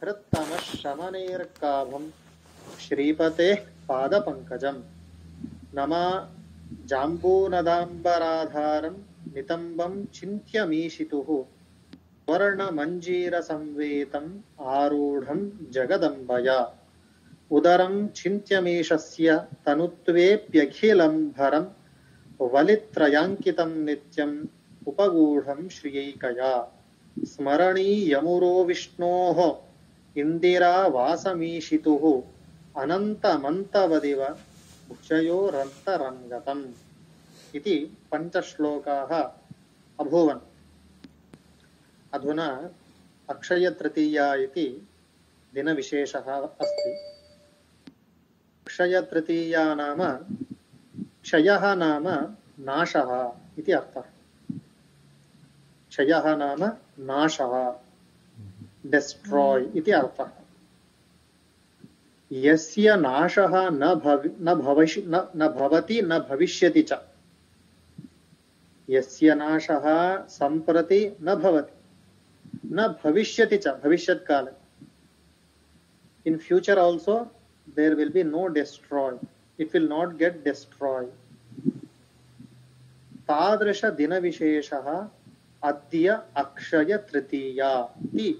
हृत्तमः शमनेर्काभं श्रीपतेः पादपङ्कजं नमा जाम्बूनदाम्बराधारं नितम्बं चिन्त्यमीशितुः वर्णमञ्जीरसंवेतम् आरूढं जगदम्बया उदरं चिन्त्यमीशस्य तनुत्वेऽप्यखिलं भरं वलित्रयाङ्कितं नित्यम् उपगूढं श्रियैकया स्मरणीयमुरो विष्णोः इन्दिरावासमीशितुः अनन्तमन्तवदिव भुजयोरन्तरङ्गतम् इति पञ्चश्लोकाः अभूवन्। अधुना अक्षयतृतीया इति दिनविशेषः अस्ति। अक्षयतृतीया नाम क्षयः नाम नाशः इति अर्थः। क्षयः नाम नाशः, डिस्ट्रॉय इति अर्थः। यस्य नाशः न भवति न भविष्यति च, यस्य नाशः सम्प्रति न भवति न भविष्यति च, भविष्यत् काले, in future also there will be no destroy, it will not get destroyed. तादृश दिनविशेषः अद्य अक्षय तृतीया इति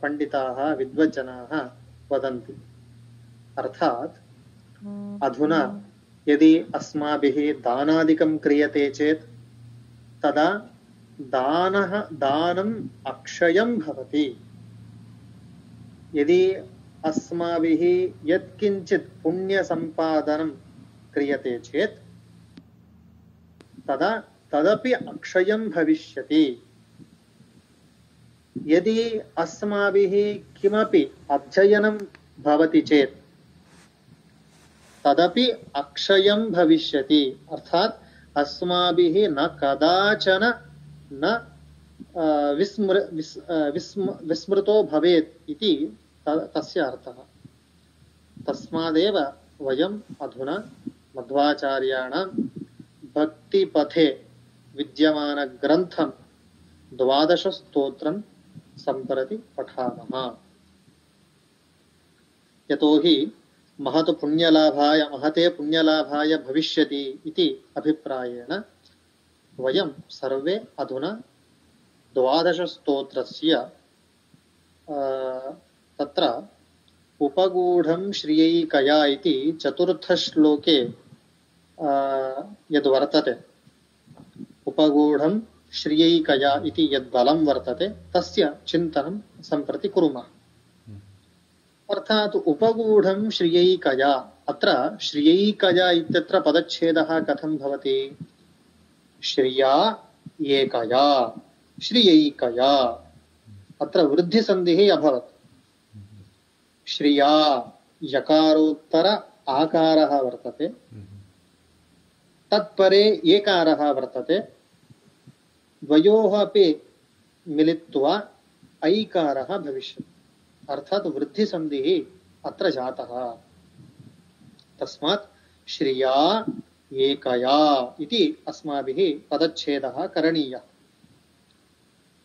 पंडिताः विद्वज्जनाः वदन्ति। अर्थात अधुना यदि अस्माभिः दानादिकं क्रियते चेत् तदा दानम् अक्षयं भवति। यदि अस्माभिः यत्किञ्चित् पुण्यसम्पादनं क्रियते चेत् तदा तदपि अक्षयं भविष्यति। यदि अस्माभिः किमपि अध्ययनं भवति चेत् तदपि अक्षयं भविष्यति। अर्थात अस्माभिः न कदाचन न विस्मृतो भवेत् इति तस्य अर्थः। तस्मादेव वयम् अधुना मध्वाचार्याणां भक्तिपथे विद्यमानग्रन्थं 12 स्तोत्रं सम्प्रति पठामः। यतोहि महते पुण्यलाभाय भविष्यति इति अभिप्रायेण वयं सर्वे अधुना 12 स्तोत्रस्य तत्र उपगूढं श्रियैकया इति 4th श्लोके यद्वर्तते, उपगूढं श्रियैकया इति यद्बलं वर्तते तस्य चिन्तनं सम्प्रति कुर्मः। अर्थात उपगूढं श्रियैकया, अत्र श्रियैकया इत्यत्र पदच्छेदः कथं भवति? श्रिया एकया, श्रियैकया, अत्र वृद्धिसन्धिः अभवत्। श्रिया यकारोत्तर आकारः वर्तते, तत्परे एकारः वर्तते, द्वयोः अपि मिलित्वा ऐकारः भविष्यति। अर्थात वृद्धिसन्धिः अत्र जातः। तस्मात् श्रिया एकया इति अस्माभिः पदच्छेदः करणीयः।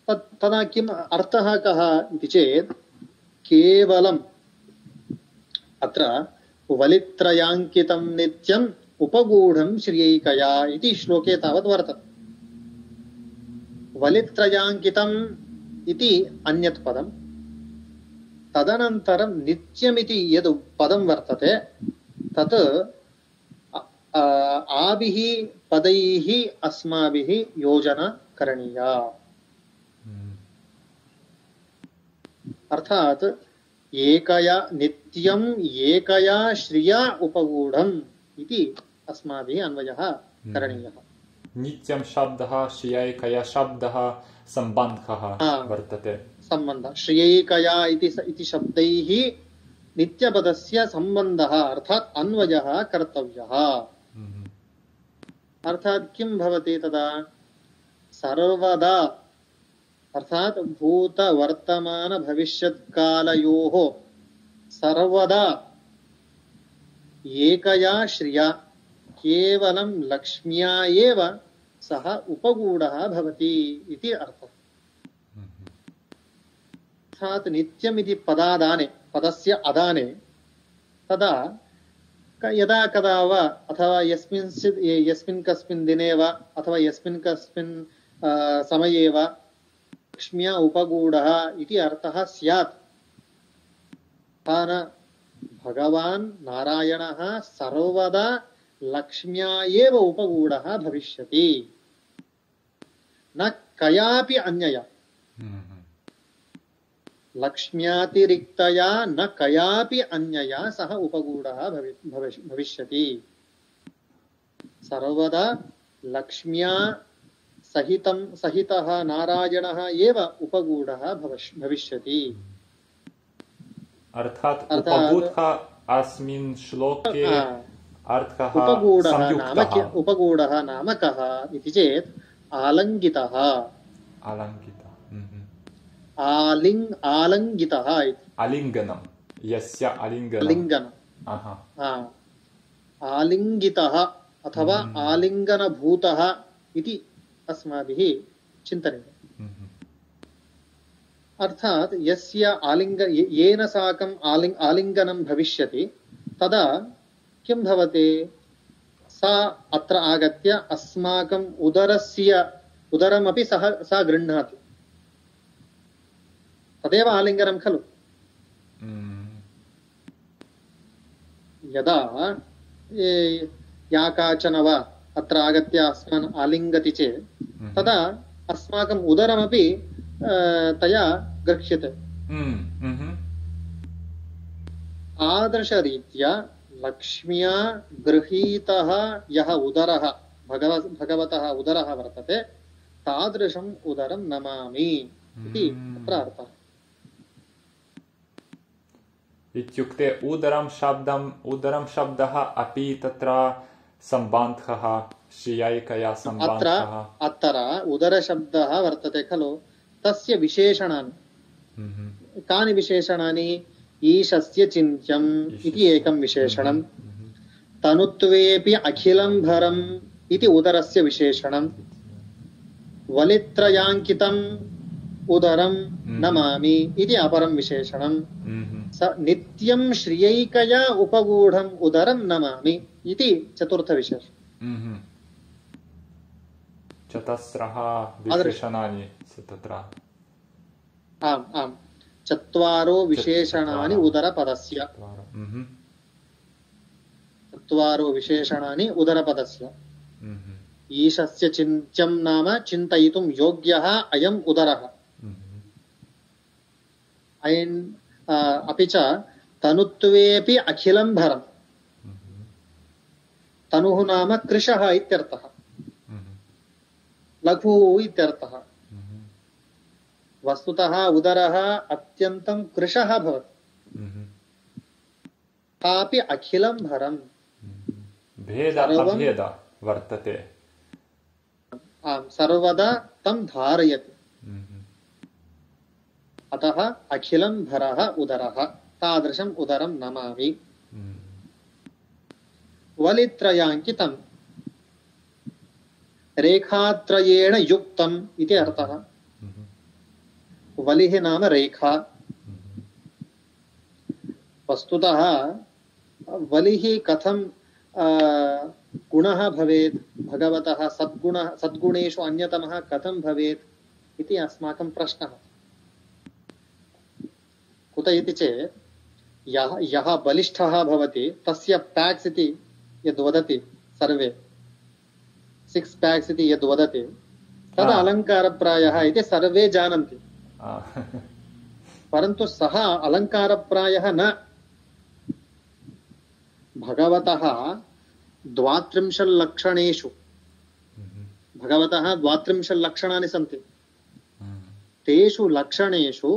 तदा किम् अर्थः कः इति चेत् केवलम् अत्र वलित्रयाङ्कितं नित्यम् उपगूढं श्रियैकया इति श्लोके तावत् वर्तते। वलित्रयाङ्कितम् इति अन्यत् पदं, तदनन्तरं नित्यमिति यद् पदं वर्तते तत् आभिः पदैः अस्माभिः योजना करणीया। अर्थात एकया नित्यम् एकया श्रिया उपगूढम् इति अस्माभिः अन्वयः करणीयः। नित्यं शब्दः श्रियैकया शब्दः सम्बन्धः वर्तते। सम्बन्धः श्रियैकया इति शब्दैः नित्यपदस्य सम्बन्धः अर्थात अन्वयः कर्तव्यः। अर्थात किं भवति तदा? सर्वदा अर्थात भूत वर्तमान भविष्यत्कालयोः सर्वदा एकया श्रिया केवलं लक्ष्म्या एव सः उपगूढः भवति इति अर्थः। अर्थात नित्यम इति पदादाने पदस्य अदाने तदा यदा कदा वा अथवा यस्मिन् कस्मिन् दिने वा अथवा यस्मिन् कस्मिन् समये वा लक्ष्म्या उपगूढः इति अर्थः स्यात्। भगवान् नारायणः सर्वदा लक्ष्म्या एव उपगूढः भविष्यति, न कयापि अन्यया। लक्ष्म्यातिरिक्तया न कयापि अन्यया सः उपगूढः भविष्यति। सर्वदा लक्ष्म्या सहितः नारायणः एव उपगूढः भविष्यति। अर्थात उपगूढः अस्मिन् श्लोके अर्थः उपगूढः नाम कः इति चेत् आलङ्गितः। आलिङ्गितः आलिङ्गनं यस्य आलिङ्गनं आलिङ्गितः अथवा आलिङ्गनभूतः इति अस्माभिः चिन्तनीयम्। अर्थात यस्य येन साकम् आलिङ्गनं भविष्यति तदा किं भवति, सा अत्र आगत्य अस्माकम् उदरमपि सा गृह्णाति, तदेव आलिङ्गनं खलु। यदा या काचन वा अत्र आगत्य अस्मान् आलिङ्गति चेत् तदा अस्माकम् उदरमपि तया गृह्यते। तादृशरीत्या लक्ष्म्या गृहीतः यः उदरः भगवतः उदरः वर्तते तादृशम् उदरं नमामि इति अत्र अर्थः। इत्युक्ते उदरं शब्दः अपि तत्र सम्बन्धः श्रियैकया सम्बन्धः। अत्र उदरशब्दः वर्तते खलु, तस्य विशेषणानि कानि विशेषणानि? ईशस्य चिन्त्यम् इति एकं विशेषणं, तनुत्वेऽपि अखिलं भरम् इति उदरस्य विशेषणं, वलित्रयाङ्कितम् उदरं नमामि इति अपरं विशेषणं, स नित्यं श्रियैकया उपगूढम् उदरं नमामि इति चतुर्थविशेषणम्। चतस्रः विशेषणानि तत्र। आम् आम्, चत्वारो विशेषणानि उदरपदस्य। चत्वारो विशेषणानि उदरपदस्य। ईशस्य चिन्त्यं नाम चिन्तयितुं योग्यः अयम् उदरः। अपि च तनुत्वेऽपि अखिलं भरम्। तनुः नाम कृशः इत्यर्थः, लघुः इत्यर्थः। वस्तुतः उदरः अत्यन्तं कृशः भवति, तापि अखिलं भरम्। भेद वर्तते। आम्, सर्वदा तं धारयति। अतः अखिलं भरः उदरः, तादृशम् उदरं नमामि। वलित्रयाङ्कितं रेखात्रयेण युक्तम् इति अर्थः। वलिः नाम रेखा। वस्तुतः वलिः कथं गुणः भवेत्, भगवतः सद्गुणेषु अन्यतमः कथं भवेत् इति अस्माकं प्रश्नः। कुत इति चेत् यः बलिष्ठः भवति तस्य पैक्स् इति यद् वदति सर्वे, 6 पैक्स् इति यद् वदति तद् अलङ्कारप्रायः इति सर्वे जानन्ति। परन्तु सः अलङ्कारप्रायः न। भगवतः 32 लक्षणेषु भगवतः 32 लक्षणानि सन्ति। तेषु लक्षणेषु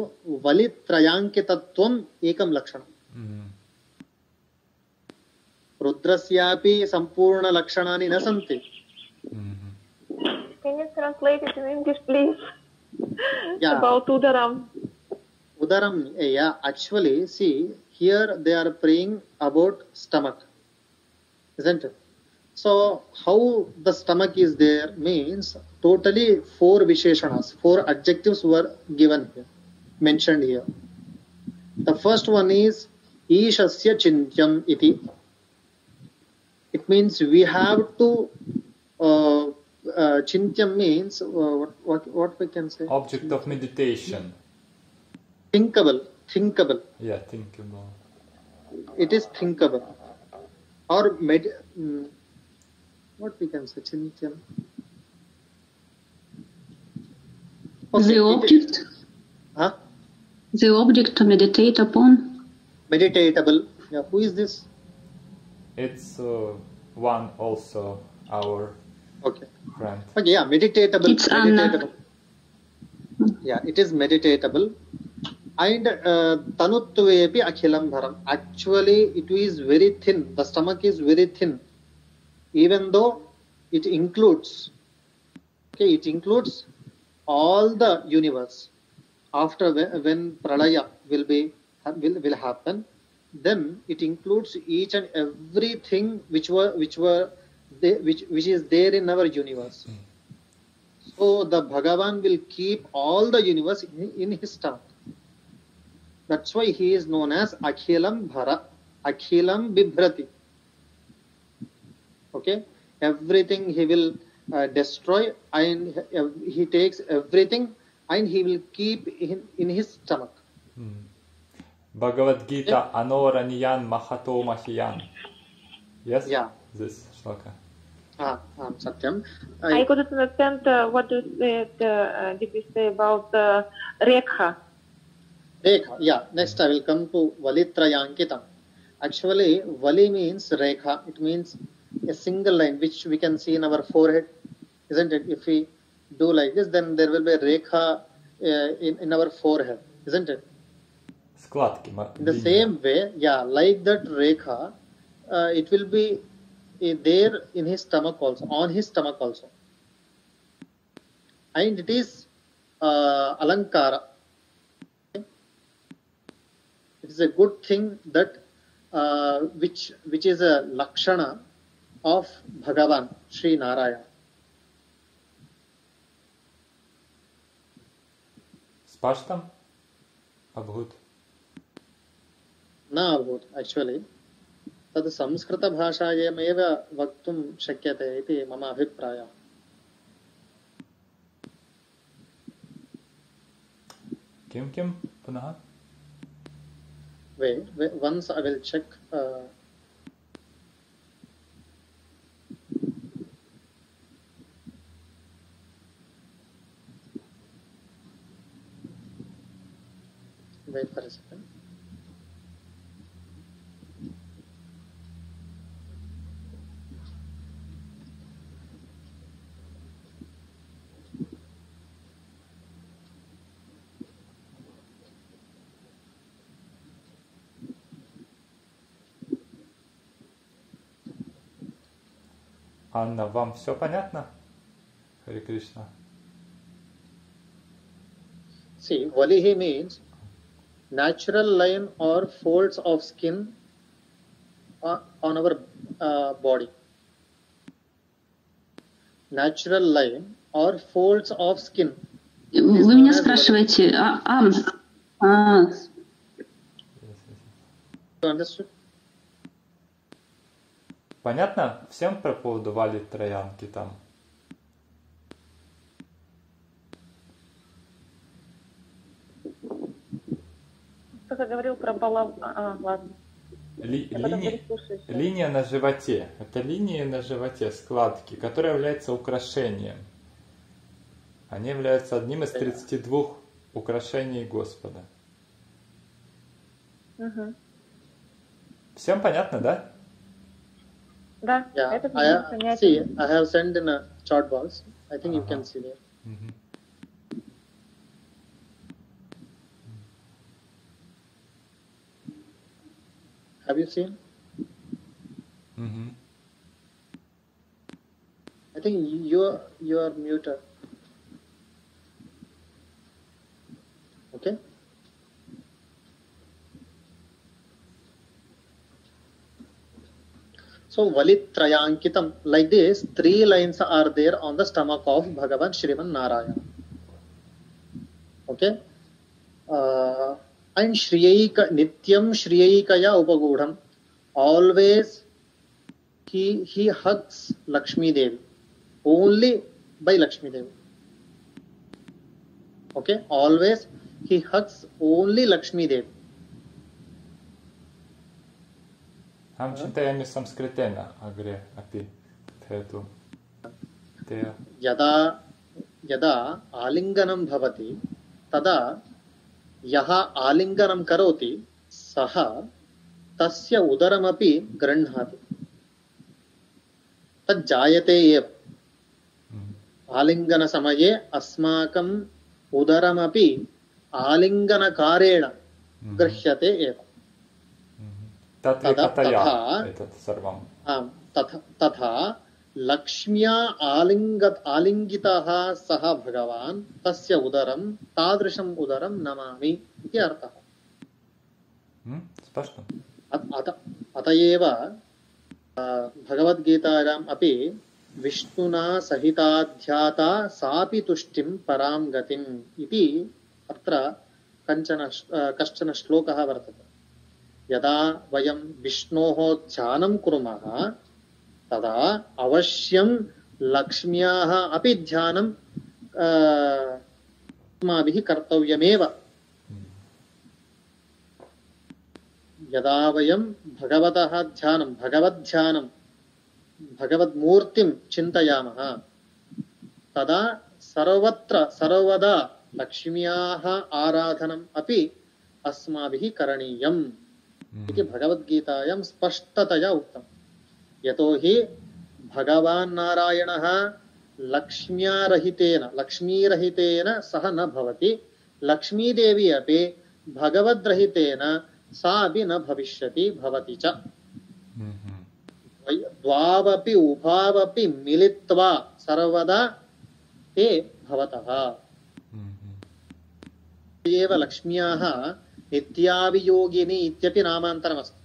वलित्रयाङ्कितत्वम् एकं लक्षणम्। रुद्रस्यापि सम्पूर्णलक्षणानि न सन्ति। Can you translate it in English, please? About Udaram. Udaram, yeah, actually, see, here they are praying about stomach, isn't it? So, how the stomach is there means totally 4 visheshanas, 4 adjectives were given here. mentioned here. The first one is Ishasya Chintyam iti. It means we have to Chintyam means what we can say? Object of meditation. Thinkable. Yeah, thinkable. It is thinkable. Or what we can say? Chintyam. The object? Huh? The object to meditate upon? Meditatable. Yeah, who is this? It's one also our friend. Okay, yeah, meditatable. It's Anna. Yeah, it is meditatable. And tanutvepi akhilam bharam. Actually, it is very thin. The stomach is very thin. Even though it includes, it includes all the universe. After when pralaya will happen, then it includes each and everything which is there in our universe. So the Bhagavan will keep all the universe in his stomach. That's why he is known as Akhilam Bhara, Akhilam Bibhrati. Okay, everything he will destroy, and he takes everything and he will keep in his stomach. Bhagavad Gita Anoraniyan Mahato Mahiyan. Yes? Yeah. This shloka. Satyam. I couldn't understand what did you say about Rekha. Rekha, yeah. Next I will come to Valitrayankitam. Actually, Vali means Rekha. It means a single line which we can see in our forehead, isn't it? If we do like this, then there will be a Rekha in our forehead, isn't it? Skladki. In the same way, yeah, like that Rekha, it will be there in his stomach also, on his stomach also. And it is Alankara. It is a good thing that which is a Lakshana of Bhagavan, Sri Narayana. Spashtam? Abhut? न अभूत् actually. तद् संस्कृतभाषायामेव वक्तुं शक्यते इति मम अभिप्रायः. किं पुनः? Wait, once I will check. Wait for a second. Анна, вам все понятно? Харе Кришна. See, Valihi means natural line or folds of skin on our body. Natural line or folds of skin. Вы меня спрашиваете, You understood? Понятно всем про поводу Вали Троянки там? Кто-то говорил про балов... ладно. Линия на животе. Это линия на животе, складки, которая является украшением. Они являются одним из 32 украшений Господа. Всем понятно, да? Да, Yeah, это see, I have sent in a chart box. I think you can see there. Have you seen? I think you are muted. Okay. So Valitrayankitam, like this, 3 lines are there on the stomach of Bhagavan Shriman Narayana. Okay. and shriyayika nityam shriyayikaya upagudham, always he hugs Lakshmi Devi, only by Lakshmi Devi. Okay, always he hugs only Lakshmi Devi. Aham chintayami samskritena agre api thetu. यदा यदा आलिंगनं भवति तदा यः आलिंगनं करोति सः तस्य उदरमपि गृह्णाति, तद् जायते एव। आलिंगनसमये अस्माकं उदरमपि आलिंगनकारेण गृह्यते एव। तथा लक्ष्म्या आलिंगितः सः भगवान्, तस्य उदरं तादृशम् उदरं नमामि इति अर्थः। अत एव भगवद्गीतायाम् अपि विष्णुना सहिताध्याता सापि तुष्टिं परां गतिम् इति अत्र कश्चन श्लोकः वर्तते। यदा वयं विष्णोः ध्यानं कुर्मः तदा अवश्यं लक्ष्म्याः अपि ध्यानं अस्माभिः कर्तव्यमेव। यदा वयं भगवतः ध्यानं भगवद्ध्यानं भगवद्मूर्तिं चिन्तयामः तदा सर्वत्र सर्वदा लक्ष्म्याः आराधनम् अपि अस्माभिः करणीयम् इति भगवद्गीतायां स्पष्टतया उक्तम्। यतोहि भगवान् नारायणः लक्ष्मीरहितेन सह न भवति, लक्ष्मीदेवी अपि भगवद्रहितेन सा अपि न भविष्यति, भवति च। द्वावपि उभावपि मिलित्वा सर्वदा ते भवतः। एव लक्ष्म्याः नित्यावियोगिनी इत्यपि नामान्तरमस्ति।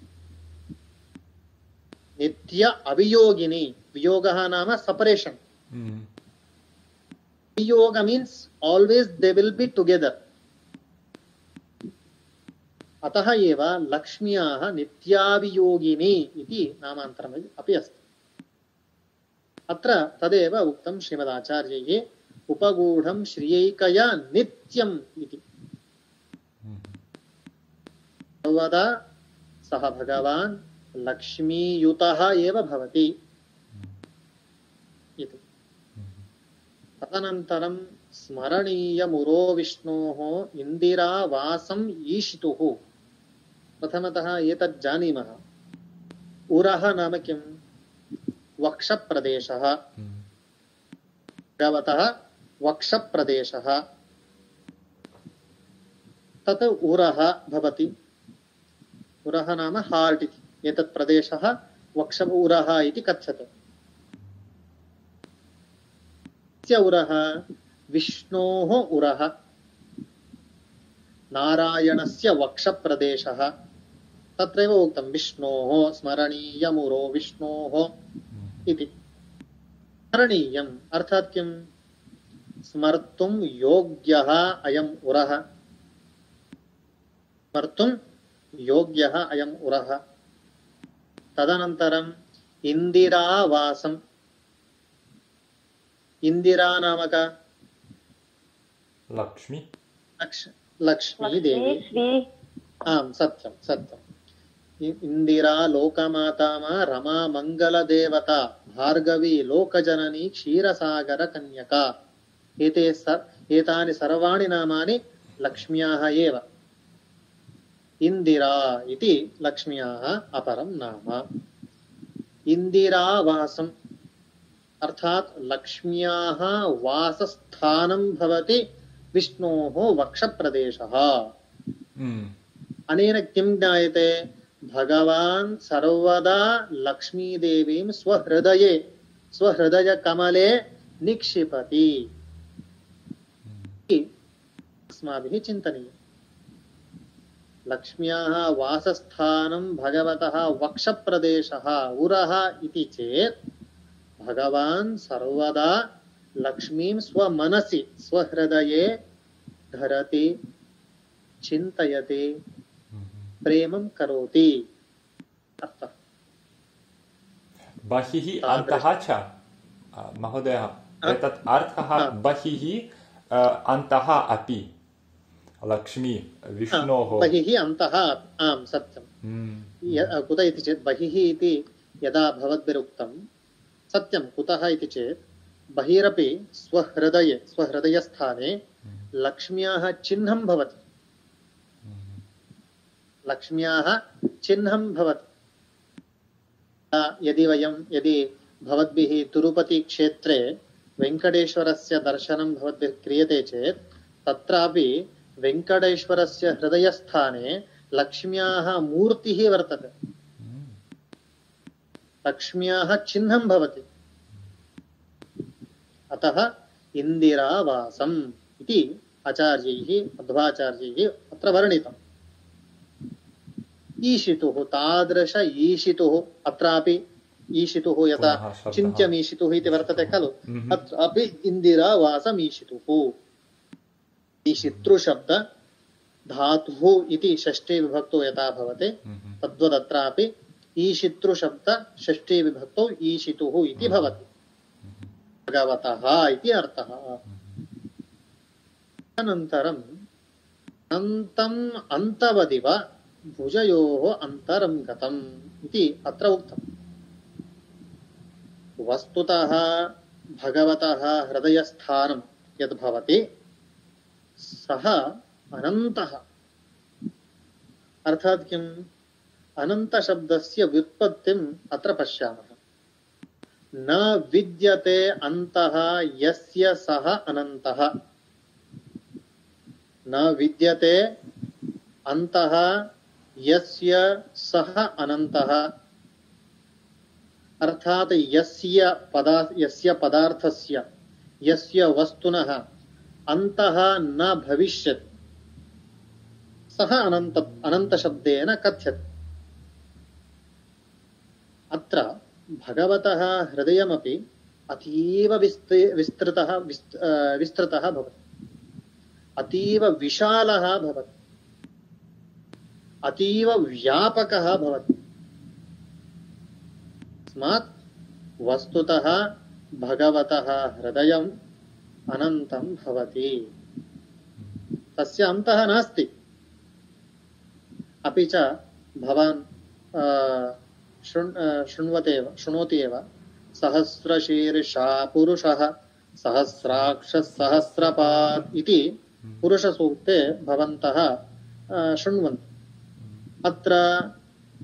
नित्य अवियोगिनी, वियोगः नाम separation. Viyoga means always they will be together. अतः एव लक्ष्म्याः नित्यावियोगिनी इति नामान्तरम् अपि अस्ति। अत्र तदेव उक्तं श्रीमदाचार्यैः, उपगूढं श्रियैकया नित्यम् इति। सर्वदा सः भगवान् लक्ष्मीयुतः एव भवति इति। तदनन्तरं स्मरणीयमुरो विष्णोः इन्दिरावासम् ईशितुः। प्रथमतः एतत् जानीमः, उरः नाम किम्? वक्षप्रदेशः, भगवतः वक्षप्रदेशः, तत् उरः भवति। उरः नाम हार्ट् इति। एतत् प्रदेशः वक्ष उरः इति कथ्यते। उरः विष्णोः उरः, नारायणस्य वक्षप्रदेशः। तत्रैव उक्तं विष्णोः स्मरणीयमुरो विष्णोः इति। स्मरणीयम् अर्थात् किम्? स्मर्तुं योग्यः अयम् उरः, स्मर्तुं योग्यः अयम् उरः। तदनन्तरम् इन्दिरावासम्। इन्दिरा नाम का? लक्ष्मी। लक्ष्मी देवी। आम्, सत्यं सत्यम्। इन्दिरा लोकमाता रमा मङ्गलदेवता भार्गवी लोकजननी क्षीरसागर कन्यका। एतानि सर्वाणि नामानि लक्ष्म्याः एव। इन्दिरा इति लक्ष्म्याः अपरं नाम। इन्दिरावासम् अर्थात् लक्ष्म्याः वासस्थानं भवति विष्णोः वक्षप्रदेशः। अनेन किं ज्ञायते? भगवान् सर्वदा लक्ष्मीदेवीं स्वहृदयकमले निक्षिपति। अस्माभिः चिन्तनीयम्। लक्ष्म्याः वासस्थानं भगवतः वक्षप्रदेशः उरः इति चेत् भगवान् सर्वदा लक्ष्मीं स्वमनसि स्वहृदये धरति, चिन्तयति प्रेमं करोति अर्थः बहिः अन्तः च महोदयः एतत् अर्थः बहिः अन्तः अपि लक्ष्मी विष्णोः बहिः अन्तः आम् सत्यं कुत इति चेत् बहिः इति यदा भवद्भिरुक्तं सत्यं कुतः इति चेत् बहिरपि स्वहृदयस्थाने लक्ष्म्याः चिह्नं भवति यदि भवद्भिः तिरुपति क्षेत्रे वेङ्कटेश्वरस्य दर्शनं भवद्भिः क्रियते चेत् तत्रापि वेङ्कटेश्वरस्य हृदयस्थाने लक्ष्म्याः मूर्तिः वर्तते लक्ष्म्याः चिह्नं भवति अतः इन्दिरावासम् इति आचार्यैः मध्वाचार्यैः अत्र वर्णितम् ईशितुः तादृश ईशितुः अत्रापि ईशितुः यथा चिन्त्यमीशितुः इति वर्तते खलु अत्रापि इन्दिरावासम् ईशितुः ईशितृशब्द धातुः इति षष्ठी विभक्तौ यथा भवति तद्वदत्रापि ईशितृशब्द षष्ठी विभक्तौ ईशितुः इति भवति भगवतः इति अर्थः अनन्तरम् अन्तम् अन्तवदिव भुजयोः अन्तरं गतम् इति अत्र उक्तम् वस्तुतः भगवतः हृदयस्थानं यद् भवति सः अनन्तः अर्थात् किम् अनन्तशब्दस्य व्युत्पत्तिम् अत्र पश्यामः न विद्यते अन्तः यस्य सः अनन्तः न विद्यते अन्तः यस्य सः अनन्तः अर्थात् यस्य पदार्थस्य यस्य वस्तुनः अन्तः न भविष्यति सः अनन्तशब्देन कथ्यते अत्र भगवतः हृदयमपि अतीव विस्तृतः भवति अतीव विशालः भवति अतीव व्यापकः भवति तस्मात् वस्तुतः भगवतः हृदयम् अनन्तं भवति तस्य अन्तः नास्ति अपि च भवान् शृणोति एव सहस्रशीर्षा पुरुषः सहस्राक्षः सहस्रपात् इति पुरुषसूक्ते भवन्तः शृण्वन्ति अत्र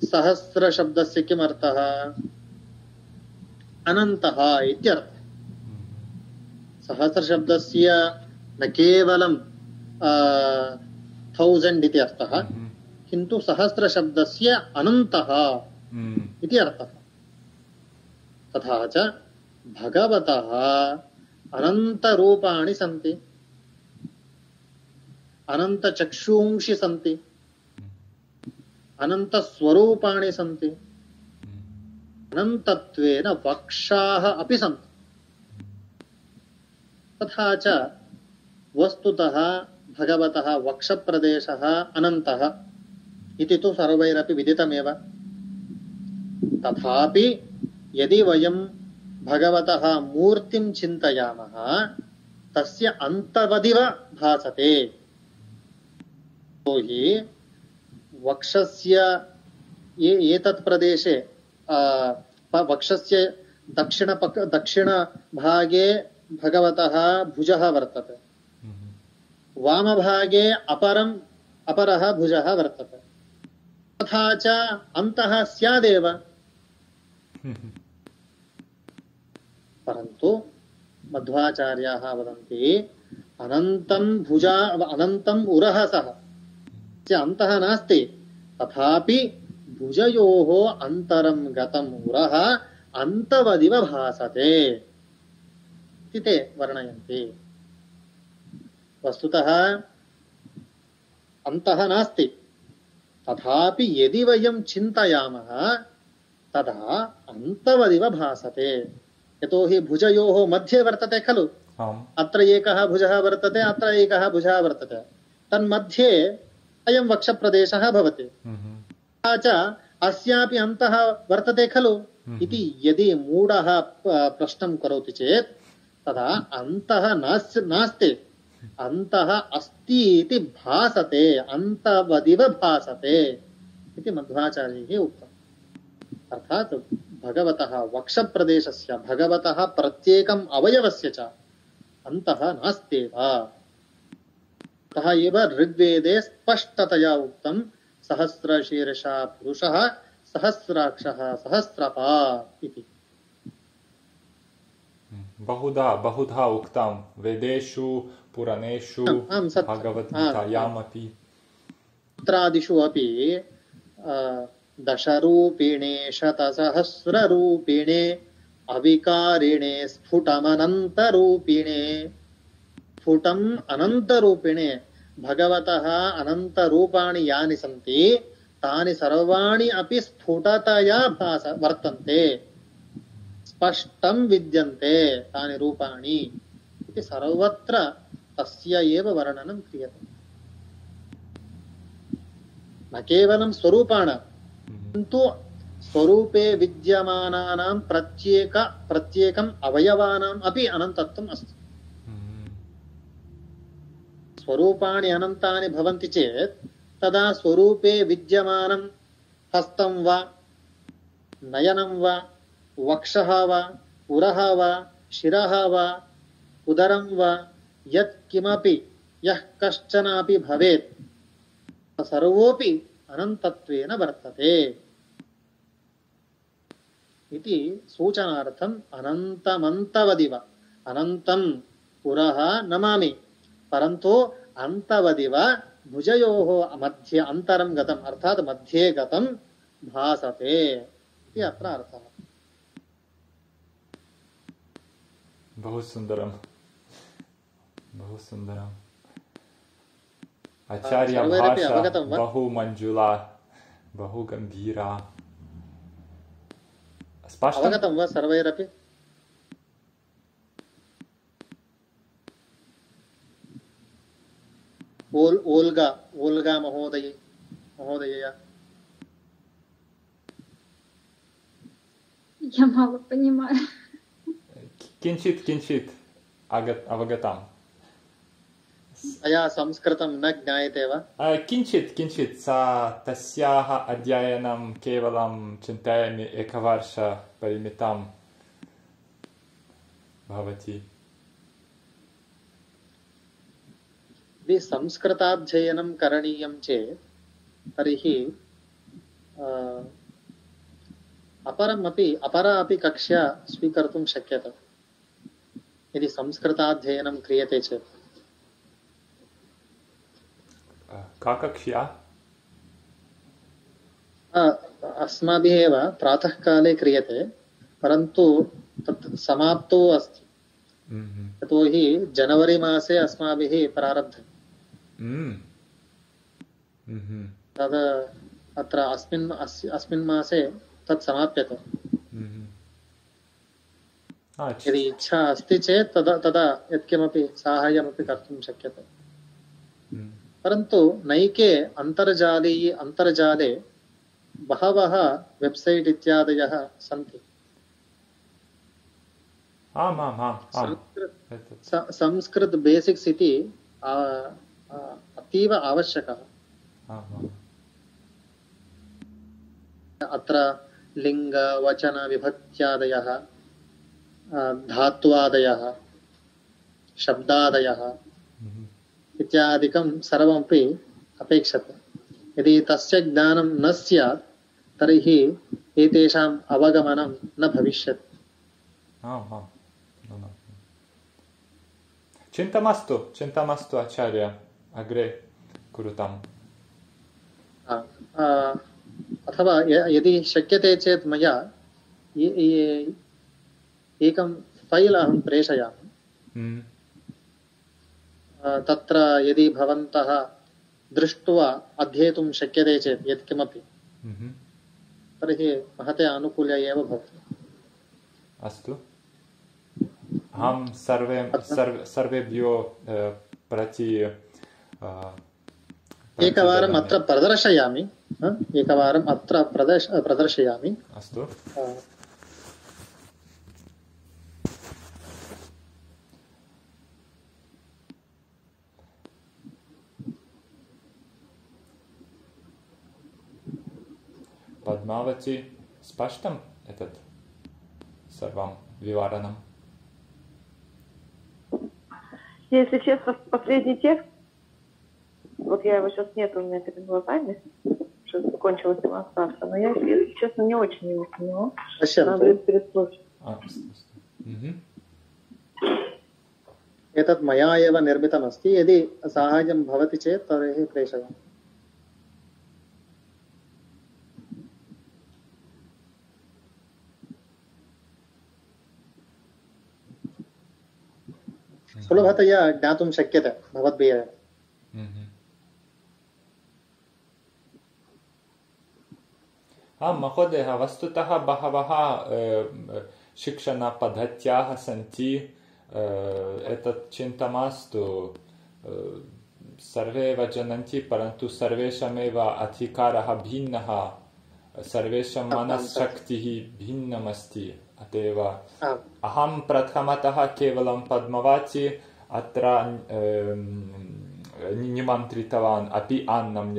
सहस्रशब्दस्य किम् अर्थः अनन्तः इत्यर्थः सहस्रशब्दस्य न केवलं 1000 इति अर्थः किन्तु सहस्रशब्दस्य अनन्तः इति अर्थः तथा च भगवतः अनन्तरूपाणि सन्ति अनन्तचक्षुंषि सन्ति अनन्तस्वरूपाणि सन्ति अनन्तत्वेन वक्षाः अपि सन्ति तथा च वस्तुतः भगवतः वक्षप्रदेशः अनन्तः इति तु सर्वैरपि विदितमेव तथापि यदि वयं भगवतः मूर्तिं चिन्तयामः तस्य अन्तवदिव भासते तो हि वक्षस्य एतत् प्रदेशे वक्षस्य दक्षिणभागे भगवतः भुजः वर्तते वामभागे अपरः भुजः वर्तते तथा च अन्तः स्यादेव परन्तु मध्वाचार्याः वदन्ति अनन्तम् उरः सः अन्तः नास्ति तथापि भुजयोः अन्तरं गतम् उरः अन्तवदिव भासते इति ते वर्णयन्ति वस्तुतः अन्तः नास्ति तथापि यदि वयं चिन्तयामः तदा अन्तवदिव भासते यतोहि भुजयोः मध्ये वर्तते खलु अत्र एकः भुजः वर्तते अत्र एकः भुजः वर्तते तन्मध्ये अयं वक्षप्रदेशः भवति। तथा च अस्यापि अन्तः वर्तते खलु इति यदि मूढः प्रश्नं करोति चेत् तदा अन्तः नास्ति, अन्तः अस्ति इति भासते, अन्तवदिव भासते इति मध्वाचार्यैः उक्तम्। अर्थात् भगवतः वक्षप्रदेशस्य, भगवतः प्रत्येकम् अवयवस्य च अन्तः नास्त्येव। अतः एव ऋग्वेदे स्पष्टतया उक्तं सहस्रशीर्षः पुरुषः सहस्राक्षः सहस्रपात् इति। बहुधा उक्तं वेदेषु पुराणेषु भगवद्गीतायामपि। सूत्रादिषु अपि दशरूपिणे शतसहस्ररूपिणे अविकारिणे स्फुटमनन्तरूपिणे, स्फुटम् अनन्तरूपिणे भगवतः अनन्तरूपाणि यानि सन्ति तानि सर्वाणि अपि स्फुटतया वर्तन्ते, स्पष्टं विद्यन्ते तानि रूपाणि इति सर्वत्र तस्य एव वर्णनं क्रियते। न केवलं स्वरूपाणां किन्तु स्वरूपे विद्यमानानां प्रत्येकम् अवयवानाम् अपि अनन्तत्वम् अस्ति। स्वरूपाणि अनन्तानि भवन्ति चेत् तदा स्वरूपे विद्यमानं हस्तं वा नयनं वा वक्षः वा पुरः वा शिरः वा उदरं वा यत् किमपि यः कश्चनापि भवेत् सर्वोऽपि अनन्तत्वेन वर्तते इति सूचनार्थम् अनन्तमन्तवदिव, अनन्तं पुरः नमामि परन्तु अन्तवदिव भुजयोः मध्ये अन्तरं गतम् अर्थात् मध्ये गतं भासते इति अत्र अर्थः। बहु सुन्दरं, बहु सुन्दरम्। आचार्यभाषा बहु मञ्जुला, बहु गम्भीरा। अवगतं वा सर्वैरपि? ओल्गा महोदयया। Я мало понимаю. किञ्चित् अवगतम्। अया संस्कृतं न ज्ञायते वा? किञ्चित् सा तस्याः अध्ययनं केवलं चिन्तयामि एकवर्षपरिमितं भवति। यदि संस्कृताध्ययनं करणीयं चेत् तर्हि अपरा अपि कक्षा स्वीकर्तुं शक्यते। यदि संस्कृताध्ययनं क्रियते चेत् का कक्षा? अस्माभिः एव प्रातःकाले क्रियते परन्तु तत् समाप्तो अस्ति। यतोहि जनवरी मासे अस्माभिः प्रारब्धम्। तद् अत्र अस्मिन् मासे तत् समाप्यते। यदि इच्छा अस्ति चेत् तदा यत्किमपि साहाय्यमपि कर्तुं शक्यते। परन्तु नैके अन्तर्जाले बहवः वेब्सैट् इत्यादयः सन्ति। संस्कृत बेसिक्स् इति अतीव आवश्यकः। अत्र लिङ्ग वचन विभक्त्यादयः धात्वादयः शब्दादयः इत्यादिकं सर्वमपि अपेक्षते। यदि तस्य ज्ञानं न स्यात् तर्हि एतेषाम् अवगमनं न भविष्यति। चिन्ता मास्तु आचार्य, अग्रे कुरुताम्। अथवा यदि शक्यते चेत् मया एकं फैल् अहं प्रेषयामि। तत्र यदि भवन्तः दृष्ट्वा अध्येतुं शक्यते चेत् यत्किमपि तर्हि महते आनुकूल्य एव भवति। अस्तु, अहं सर्वेभ्यो प्रति एकवारम् अत्र प्रदर्शयामि एकवारम् अत्र प्रदर्शयामि अस्तु Padmavati спаштам этот सर्वं виваранам. Если честно, последний текст, вот я его сейчас нет у меня перед глазами, что закончилась демонстрация, но я, если честно, не очень его поняла. Надо это переслушать. एतत् मया एव निर्मितमस्ति यदि साहाय्यं भवति चेत् तर्हि प्रेषयामि सुलभतया ज्ञातुं शक्यते भवद्भिः महोदय वस्तुतः बहवः शिक्षणपद्धत्याः सन्ति एतत् चिन्ता मास्तु सर्वे एव जानन्ति परन्तु सर्वेषामेव अधिकारः भिन्नः सर्वेषां मनःशक्तिः भिन्नमस्ति अत एव अहं प्रथमतः केवलं पद्मावती अत्र निमन्त्रितवान् अपि अन्नं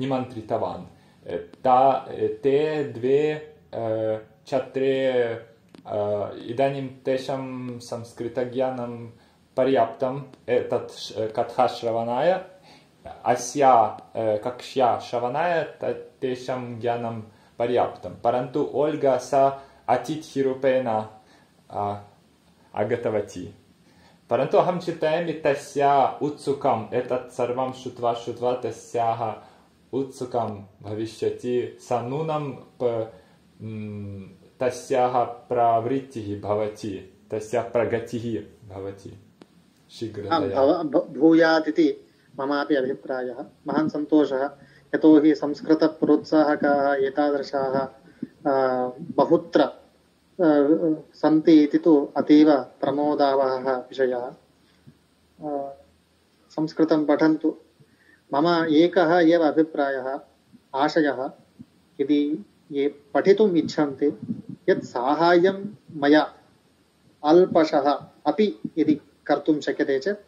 निमन्त्रितवान् ते द्वे छात्रे इदानीं तेषां संस्कृतज्ञानं पर्याप्तम् एतत् कथाश्रवणाय अस्या कक्ष्या श्रवणाय तेषां ज्ञानं पर्याप्तं परन्तु ओल्गा सा अतिथिरूपेण आगतवती परन्तु अहं चिन्तयामि तस्या उत्सुकम् एतत् सर्वं श्रुत्वा तस्याः उत्सुकं भविष्यति सा नूनं तस्याः प्रवृत्तिः भवति तस्याः प्रगतिः भवति शीघ्रतया भूयात् इति ममापि अभिप्रायः महान् सन्तोषः यतोहि संस्कृतप्रोत्साहकाः एतादृशाः बहुत्र सन्ति इति तु अतीव प्रमोदावहः विषयः संस्कृतं पठन्तु मम एकः एव अभिप्रायः आशयः यदि ये पठितुम् इच्छन्ति यत् साहाय्यं मया अल्पशः अपि यदि कर्तुं शक्यते चेत्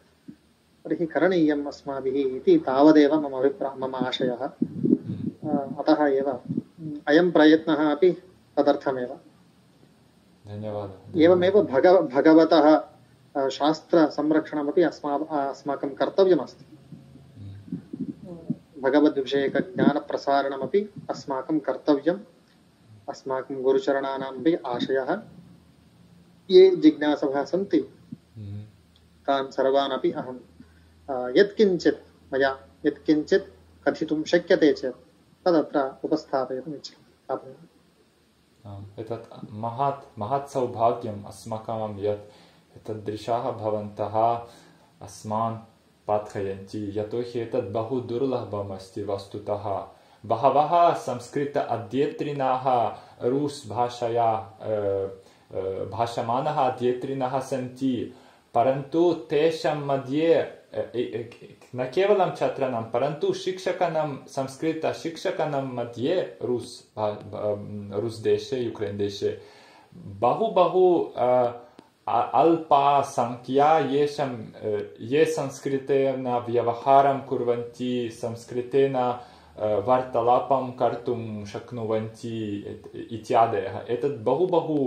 तर्हि करणीयम् अस्माभिः इति तावदेव मम आशयः अतः एव अयं प्रयत्नः अपि तदर्थमेव धन्यवादः एवमेव भगवतः शास्त्रसंरक्षणमपि अस्माकं कर्तव्यमस्ति भगवद्विषयकज्ञानप्रसारणमपि अस्माकं कर्तव्यम् अस्माकं गुरुचरणानामपि आशयः ये जिज्ञासवः सन्ति तान् सर्वान् अपि अहं यत्किञ्चित् मया यत्किञ्चित् कथितुं शक्यते चेत् तदत्र उपस्थापयितुम् इच्छामि एतत् महत् सौभाग्यम् अस्माकं यत् एतादृशाः भवन्तः अस्मान् पाठयन्ति यतोहि एतत् बहु दुर्लभम् अस्ति वस्तुतः बहवः संस्कृत अध्येतृणाः रूस् भाषया भाषमानः अध्येतृणाः सन्ति परन्तु तेषां मध्ये न केवलं छात्राणां परन्तु शिक्षकाणां संस्कृतशिक्षकाणां मध्ये रूस् देशे यूक्रेन् देशे बहु अल्पा संख्या ये संस्कृतेन व्यवहारं कुर्वन्ति संस्कृतेन वार्तालापं कर्तुं शक्नुवन्ति इत्यादयः एतत् बहु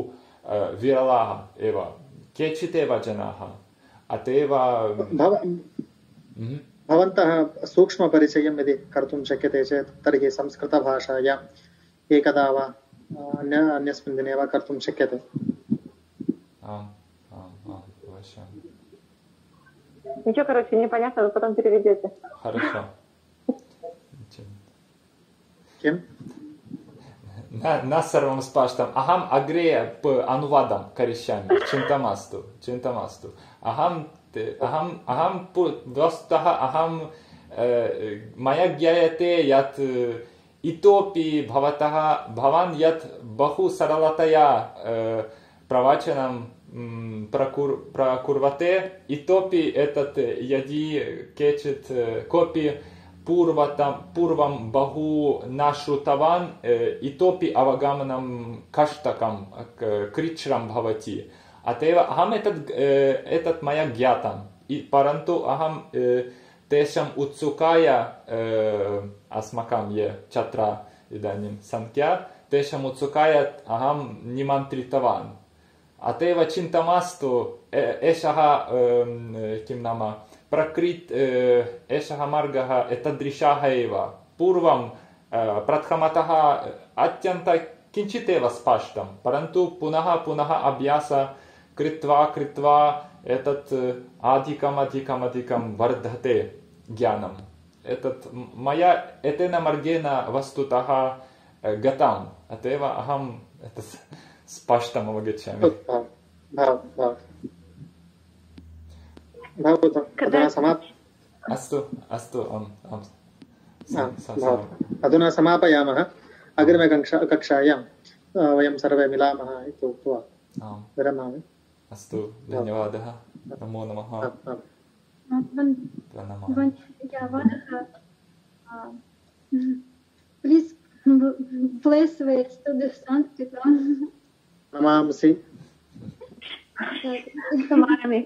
विरलाः एव केचिदेव जनाः अत एव भवन्तः सूक्ष्मपरिचयं यदि कर्तुं शक्यते चेत् तर्हि संस्कृतभाषायाम् एकदा वा अन्यस्मिन् दिने वा कर्तुं शक्यते Ничего, короче, непонятно, вы потом переведете. Хорошо. Кем? न सर्वं स्पष्टम् अहम् अग्रे अनुवादं करिष्यामि चिन्ता मास्तु अहं वस्तुतः मया ज्ञायते यत् इतोपि भवान् यत् बहु सरलतया प्रवचनं प्रकुर्वते इतोपि एतत् यदि केचित् कोऽपि पूर्वं बहु न श्रुतवान् इतोपि अवगमनं कष्टकं कृच्छ्रं भवति अत एव अहम् एतत् मया ज्ञातं परन्तु अहं तेषाम् उत्सुकाय अस्माकं ये छात्रा इदानीं संख्या तेषाम् उत्सुकाय अहं निमन्त्रितवान् अत एव चिन्ता मास्तु एषः किं नाम एषः मार्गः एतादृशः एव पूर्वं प्रथमतः अत्यन्तं किञ्चित् एव स्पष्टं परन्तु पुनः अभ्यासः कृत्वा एतत् अधिकं वर्धते ज्ञानम् एतत् मया एतेन मार्गेण वस्तुतः गतम् अत एव अहम् एतत् स्पष्टम् अवगच्छामि अस्तु अधुना समापयामः अग्रिमकक्षायां वयं सर्वे मिलामः इति उक्त्वा विरमामि अस्तु धन्यवादः नमो नमः Please bless the students Sanskrit. नमांसि Namaami.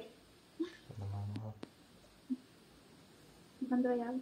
Bandhayami.